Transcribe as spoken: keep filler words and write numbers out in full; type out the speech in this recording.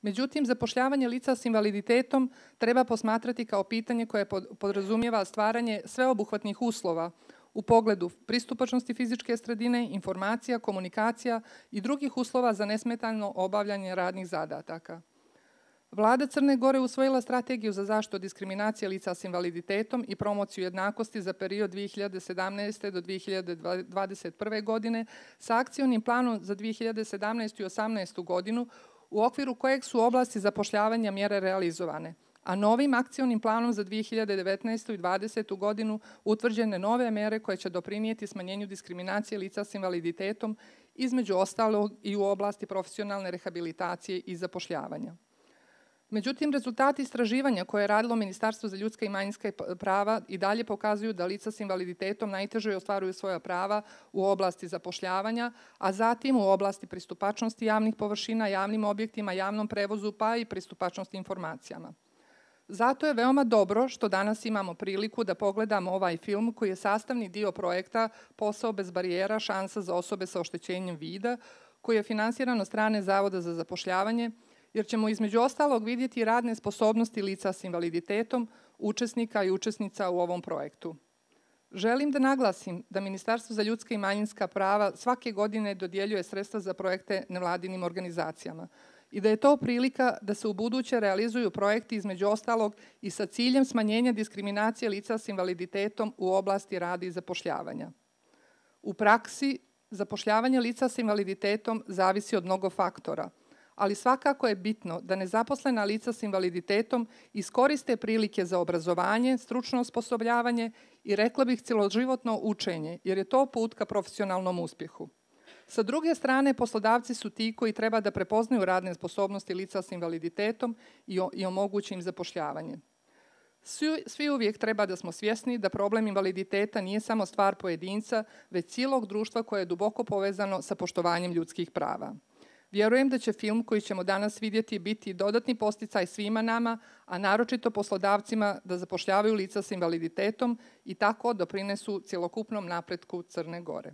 Međutim, zapošljavanje lica s invaliditetom treba posmatrati kao pitanje koje podrazumijeva stvaranje sveobuhvatnih uslova u pogledu pristupačnosti fizičke sredine, informacija, komunikacija i drugih uslova za nesmetano obavljanje radnih zadataka. Vlada Crne Gore usvojila strategiju za zaštitu od diskriminacije lica s invaliditetom i promociju jednakosti za period dvije hiljade sedamnaeste. do dvije hiljade dvadeset prve. godine sa akcionim planom za dvije hiljade sedamnaestu. i osamnaestu. godinu u okviru kojeg su oblasti zapošljavanja mjere realizovane, a novim akcionim planom za dvije hiljade devetnaestu. i dvadesetu. godinu utvrđene nove mjere koje će doprinijeti smanjenju diskriminacije lica s invaliditetom, između ostalog i u oblasti profesionalne rehabilitacije i zapošljavanja. Međutim, rezultati istraživanja koje je radilo Ministarstvo za ljudska i manjinska prava i dalje pokazuju da lica s invaliditetom najteže ostvaruju svoja prava u oblasti zapošljavanja, a zatim u oblasti pristupačnosti javnih površina, javnim objektima, javnom prevozu, pa i pristupačnosti informacijama. Zato je veoma dobro što danas imamo priliku da pogledamo ovaj film koji je sastavni dio projekta Posao bez barijera, šansa za osobe sa oštećenjem vida, koji je finansiran od strane Zavoda za zapošljavanje, jer ćemo između ostalog vidjeti radne sposobnosti lica s invaliditetom, učesnika i učesnica u ovom projektu. Želim da naglasim da Ministarstvo za ljudska i manjinska prava svake godine dodjeljuje sredstva za projekte nevladinim organizacijama i da je to prilika da se ubuduće realizuju projekti između ostalog i sa ciljem smanjenja diskriminacije lica s invaliditetom u oblasti rada i zapošljavanja. U praksi, zapošljavanje lica s invaliditetom zavisi od mnogo faktora, ali svakako je bitno da nezaposlena lica s invaliditetom iskoriste prilike za obrazovanje, stručno osposobljavanje i, rekla bih, cjeloživotno učenje, jer je to put ka profesionalnom uspjehu. Sa druge strane, poslodavci su ti koji treba da prepoznaju radne sposobnosti lica s invaliditetom i, i omogući im zapošljavanje. Svi, svi uvijek treba da smo svjesni da problem invaliditeta nije samo stvar pojedinca, već cijelog društva koje je duboko povezano sa poštovanjem ljudskih prava. Vjerujem da će film koji ćemo danas vidjeti biti dodatni podsticaj svima nama, a naročito poslodavcima da zapošljavaju lica s invaliditetom i tako doprinesu cjelokupnom napretku Crne Gore.